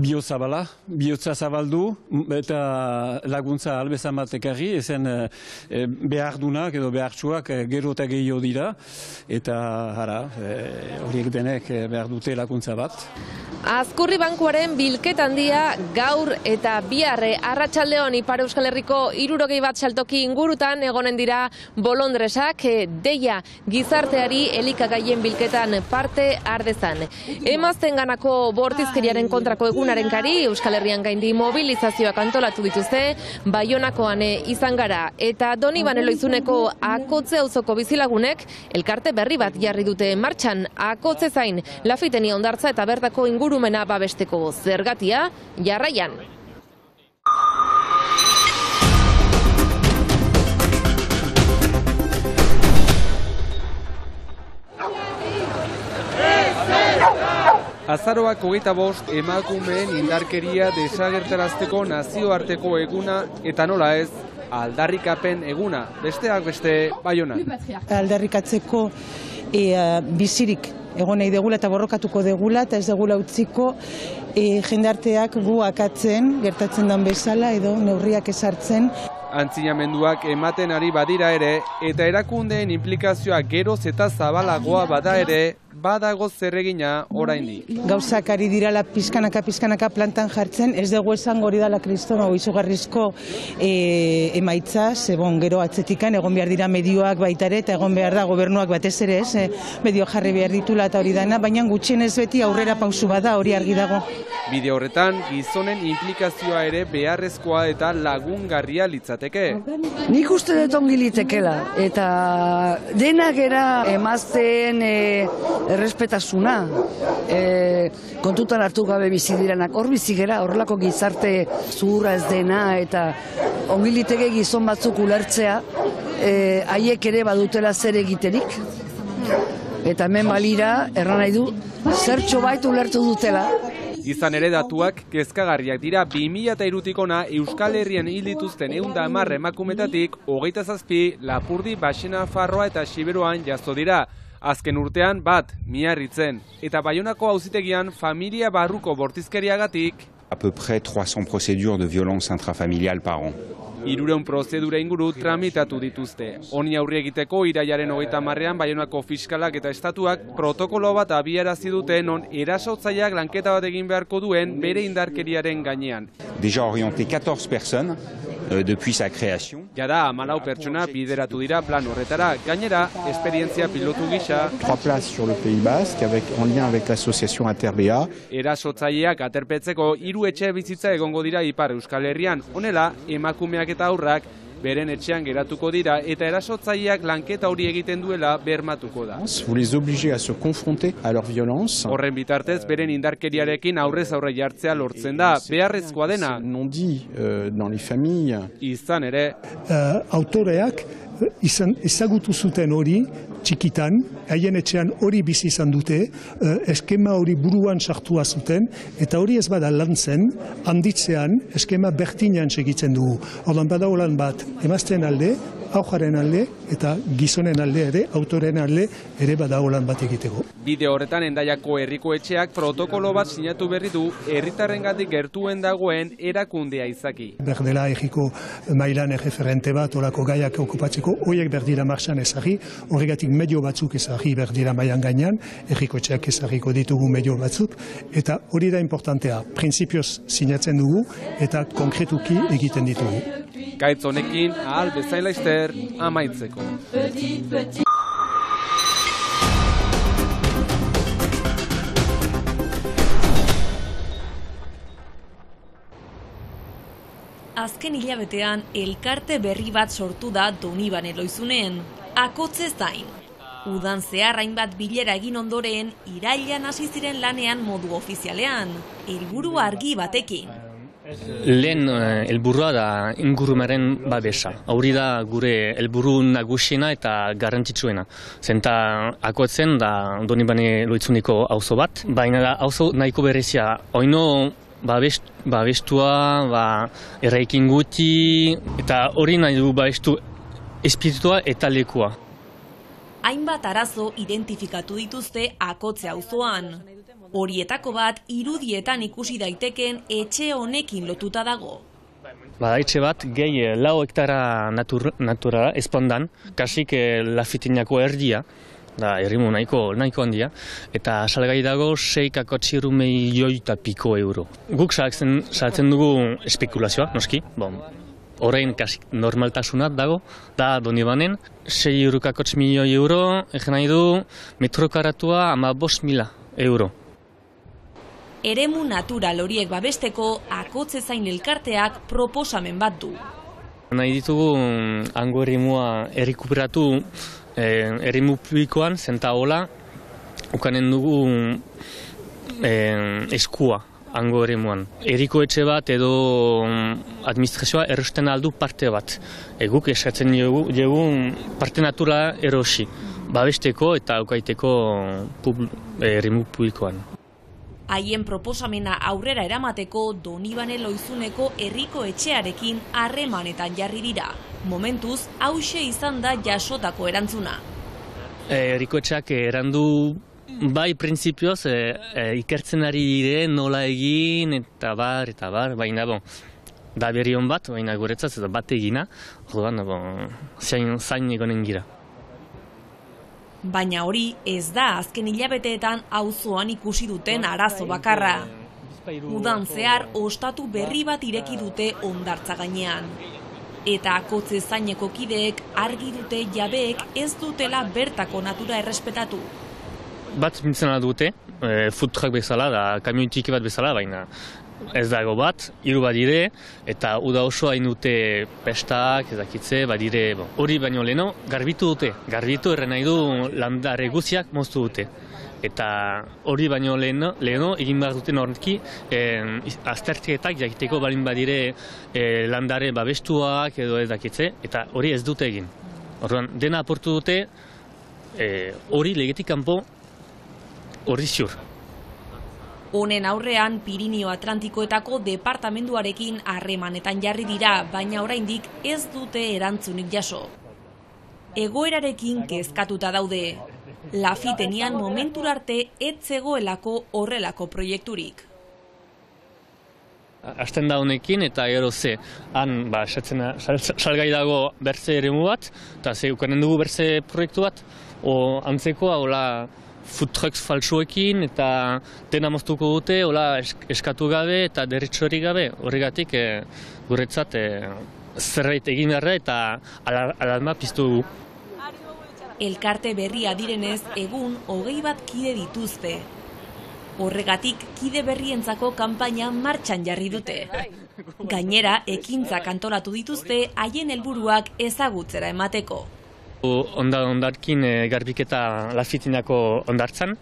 bihotza zabaldu eta laguntza albezan bat ekarri, ezen behardunak edo behartsuak gero eta gehiago dira, eta horiek denek behar dute laguntza bat. Azkurri bankuaren bilketa handia gaur eta biharre arratsaldeon Ipar Euskal Herriko 61 saltoki ingurutan egonen dira bolondresak deia gizarteari elikagaien bilketan parte ardezan. Emaztenganako bortizkeriaren kontrako egunaren kari Euskal Herrian gaindi mobilizazioak antolatu dituzte, Baionakoan izan gara eta Donibane Loizuneko Akotze auzoko bizilagunek elkarte berri bat jarri dute martxan, Akotze zain, Lafiteni hondartza eta bertako ingurumena babesteko. Zergatia, jarraian. Azaroak 25 emakumeen indarkeria desagertarazteko nazioarteko eguna eta nola ez, aldarrikapen eguna, besteak beste Baionan. Aldarrikatzeko bizirik egon nahi degula eta borrokatuko degula eta ez degula utziko jendarteak gu akatzen, gertatzen den bezala edo neurriak ezartzen. Antzinamenduak ematen ari badira ere eta erakundeen inplikazioa geroz eta zabalagoa bada ere, badago zerregina oraindik. Gauzak ari dirala pizkanaka plantan jartzen, ez dugu esango hori dela kristona izugarrizko emaitza, zebon gero atzetikan egon behar dira medioak baita ere eta egon behar da gobernuak batez ere ez, medio jarri behar ditula eta hori dana, baina gutxienez beti aurrera pausu bada hori argi dago. Bide horretan gizonen inplikazioa ere beharrezkoa eta lagungarria litzateke. Nik uste dut ongi litekela eta denak era emazteen errespetasuna, kontutan hartu gabe bizi direnak, hor bizi gera, horrelako gizarte zuhurra ez dena eta ongi liteke gizon batzuk ulertzea, haiek ere badutela zer egiterik. Eta hemen balira, erran nahi du, zertxo bait ulertu dutela. Izan ere datuak kezkagarriak dira 2003tik hona Euskal Herrian hil dituzten 110 emakumetatik 27 Lapurdi, Baxena, Farroa eta Xiberoan jazo dira. Azken urtean bat, Miarritzen. Eta Baionako auzitegian familia barruko bortizkeriagatik à peu près 300 procédures de violence intrafamiliale par an. 300 prozedura inguru tramitatu dituzte. Honi aurre egiteko irailaren 30ean Baionako fiskalak eta estatuak protokolo bat abiarazi dute non erasotzaileak lanketa bat egin beharko duen bere indarkeriaren gainean. Déjà orienté 14 personnes depuis sa création. Jada 14 pertsona bideratu dira plan horretara. Gainera, esperientzia pilotu gisa 3 places sur le Pays Basque en lien avec l'association Interbea. Erasotzaileak aterpetzeko 3 etxe bizitza egongo dira Ipar Euskal Herrian. Honela, emakumeak eta aurrak beren etxean geratuko dira eta erasotzaileak lanketa hori egiten duela bermatuko da. Vous les obligez à se confronter à leur violence. Horren bitartez beren indarkeriarekin aurrez aurre jartzea lortzen da, beharrezkoa dena. Non dit dans les familles. Izan ere, autoreak ezagutu zuten hori txikitan, haien etxean hori bizi izan dute, eskema hori buruan sartua zuten, eta hori ez bada lantzen, handitzean eskema bertinean segitzen dugu. Ordan badago lan bat, emazten alde, aujaren alde, eta gizonen alde ere, autoren alde ere badago lan bat egiteko. Bide horretan Hendaiako herriko etxeak protokolo bat sinatu berri du herritarrengatik gertuen dagoen erakundea izaki. Berdela egiko mailan erreferente bat, olako gaiak okupatzeko, horiek berdira marxan ezagri, horregatik medio batzuk ezagri berdira mailan gainean, erriko etxeak ezagiko ditugu medio batzuk, eta hori da importantea, printzipioz sinatzen dugu, eta konkretuki egiten ditugu. Gaitz honekin, ahal bezain laizter, amaitzeko. Azken hilabetean elkarte berri bat sortu da Donibane Loizunen, Akotze zain. Udan zehar hainbat bilera egin ondoren, irailean hasi ziren lanean modu ofizialean, helburu argi batekin. Lehen helburua da ingurumaren babesa. Hori da gure helburu nagusiena eta garrantzitsuena. Zenta Akotzen da Donibane Loizuneko auzo bat, baina da auzo nahiko berezia. Oino babestua, erraikin guti, eta hori nahi du babestu espiritua eta lekua. Hainbat arazo identifikatu dituzte Akotze auzoan. Horietako bat irudietan ikusi daiteken etxe honekin lotuta dago. Etxe bat gehi 4 hektara naturala espondan, kasik Lafitinako erdia, da errimu nahiko handia, eta salgai dago 6,3 milioi eta piko euro. Guk saltzen dugu espekulazioa, noski, orain kasik normaltasunat dago, da Donibanen 6,4 milioi euro, egin nahi du metro karatua 15.000 euro. Eremu natural horiek babesteko Akotzezain elkarteak proposamen bat du. Nahi ditugu hango eremua errekuperatu eremu publikoan, zenta hola, ukanen dugu eskua hango eremuan. Eriko etxe bat edo administrazioa erosten aldu parte bat. Guk eskatzen dugu parte naturala erosi, babesteko eta ukaiteko eremu publikoan. Haien proposamena aurrera eramateko Donibane Loizuneko herriko etxearekin harremanetan jarri dira. Momentuz, hauxe izan da jasotako erantzuna. Herriko etxeak erandu bai printzipioz ikertzen ari dire nola egin eta bar, baina da berri hon bat, baina guretzat eta bat egina, zain egonen gira. Baina hori ez da azken hilabeteetan auzoan ikusi duten arazo bakarra. Udan zehar ostatu berri bat ireki dute hondartza gainean. Eta Akotzezaineko kideek argi dute jabeek ez dutela bertako natura errespetatu. Bat mintzena dute, food truck bezala, da kamioi txiki bat bezala, baina ez dago bat, 3 badire, eta uda osoa dute pestak, ezakitze, badire, hori baino leheno, garbitu dute. Garbitu erren nahi du landare guziak moztu dute. Eta hori baino leheno egin behar duten horreki, aztertiketak jakiteko balin badire landare babestuak edo ezakitze, eta hori ez dute egin. Orduan, dena aportu dute, hori legetik kanpo hori ziur. Honen aurrean Pirinio Atlantikoetako departamenduarekin harremanetan jarri dira, baina oraindik ez dute erantzunik jaso. Egoerarekin kezkatuta daude. Lafitenian momentura arte ez zegoelako horrelako proiekturik. Hasten da honekin eta gero han salgai dago bertze eremu bat, eta ukanen dugu bertze proiektu bat, antzekoa, hola, food trucks falsuekin eta dena moztuko dute, hola eskatu gabe eta derritxori gabe. Horregatik guretzat zerbait egin beharra eta alarma piztu dugu. Elkarte berria direnez egun 21 kide dituzte. Horregatik kide berrientzako kanpaina martxan jarri dute. Gainera, ekintzak antolatu dituzte haien helburuak ezagutzera emateko. Ondarkin garbiketa Lafitinako hondartzan,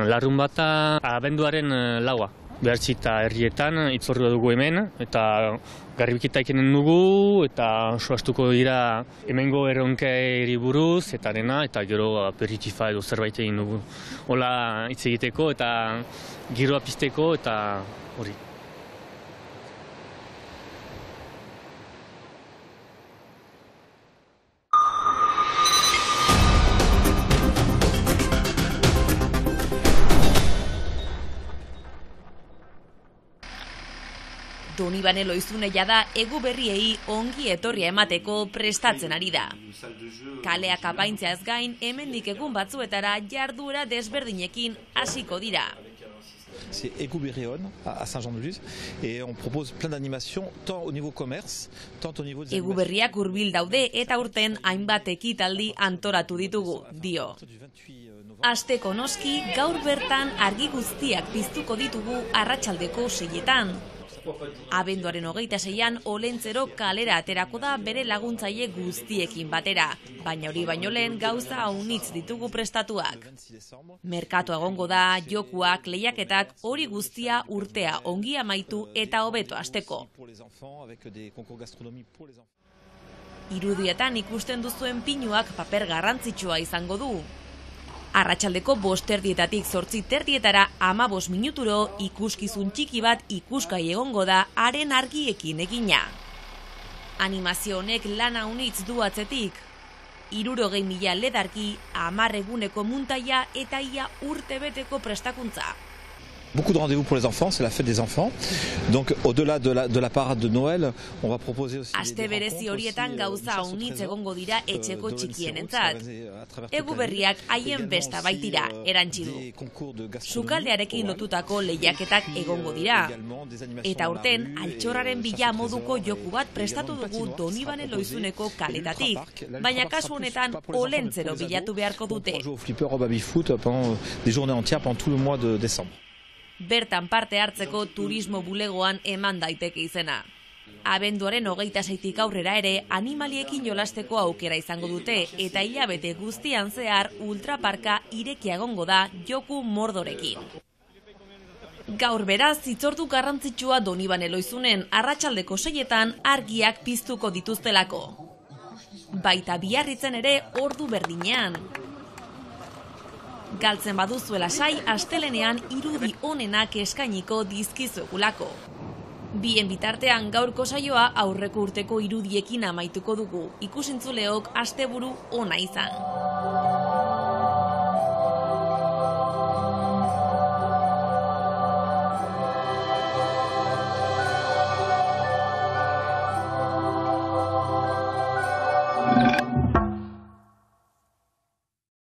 larun bata abenduaren 4. Behartzita herrietan itzordua dugu hemen, eta garbiketa ekenen dugu, eta soaztuko dira hemengo erronkeri buruz, eta dena, eta gero aperitifa edo zerbait egin dugu. Hola hitz egiteko eta giroa pizteko eta hori. Donibane Loizune jada egu berriei ongi etorria emateko prestatzen ari da. Kaleak apaintzeaz gain, hemendik egun batzuetara jarduera desberdinekin hasiko dira. C'est Egu-Berrion à Saint-Jean-de-Luz et on propose plein d'animations tant au niveau commerce, tant au niveau des Egu berriak hurbil daude eta urten hainbat ekitaldi antolatu ditugu, dio. Asteko noski gaur bertan argi guztiak piztuko ditugu arratsaldeko 6etan. Abenduaren 26an Olentzero kalera aterako da bere laguntzaile guztiekin batera, baina hori baino lehen gauza haunitz ditugu prestatuak. Merkatua egongo da, jokuak, lehiaketak, hori guztia urtea ongi amaitu eta hobeto hasteko. Irudietan ikusten duzuen pinuak paper garrantzitsua izango du. Arratsaldeko 5:00 8:00 15 minuturo ikuskizun txiki bat ikusgai egongo da haren argiekin egina. Animazio honek lana unitz du atzetik. 60.000 ledarki, 10 eguneko muntaia eta ia urtebeteko prestakuntza. Beaucoup de rendez-vous pour les enfants, c'est la fête des enfants. Donc au-delà de la parade de Noël, on va proposer aussi Aste berezi horietan gauza unitz egongo dira etxeko txikienentzat. Egu berriak haien besta baitira erantzi du. Sukaldearekin lotutako lehiaketak egongo dira. Eta aurten altxorraren bila moduko joku bat prestatu dugu Donibane Loizuneko kaletatik. Baina kasu honetan olentzero bilatu beharko dute. Bertan parte hartzeko turismo bulegoan eman daiteke izena. Abenduaren 26tik aurrera ere animaliekin jolasteko aukera izango dute eta hilabete guztian zehar ultraparka irekia egongo da joku mordorekin. Gaur beraz hitzordu garrantzitsua Donibane Loizunen arratsaldeko 6etan argiak piztuko dituztelako. Baita Biarritzen ere ordu berdinean. Galtzen baduzuela sai, astelenean irudi onenak eskainiko dizkizuegulako. Bien bitartean gaurko saioa aurreko urteko irudiekin amaituko dugu. Ikusentzuleok asteburu ona izan.